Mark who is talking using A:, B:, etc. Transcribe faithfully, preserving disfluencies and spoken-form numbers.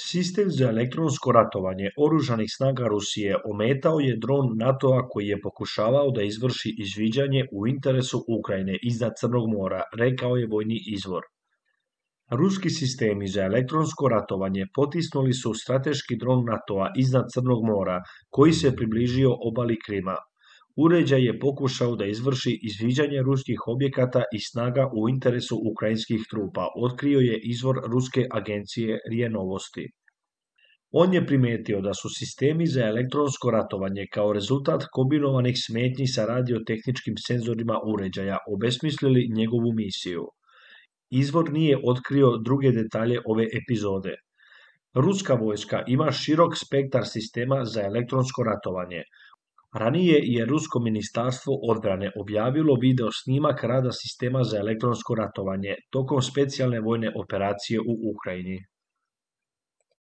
A: Sistem za elektronsko ratovanje oružanih snaga Rusije ometao je dron NATO-a koji je pokušavao da izvrši izviđanje u interesu Ukrajine iznad Crnog mora, rekao je vojni izvor. Ruski sistemi za elektronsko ratovanje potisnuli su strateški dron NATO-a iznad Crnog mora, koji se približio obali Krima. Uređaj je pokušao da izvrši izviđanje ruskih objekata i snaga u interesu ukrajinskih trupa, otkrio je izvor ruske agencije RIA Novosti. On je primetio da su sistemi za elektronsko ratovanje kao rezultat kombinovanih smetnji sa radiotehničkim senzorima uređaja obesmislili njegovu misiju. Izvor nije otkrio druge detalje ove epizode. Ruska vojska ima širok spektar sistema za elektronsko ratovanje. Ranije je Rusko ministarstvo odbrane objavilo video snimak rada sistema za elektronsko ratovanje tokom specijalne vojne operacije u Ukrajini.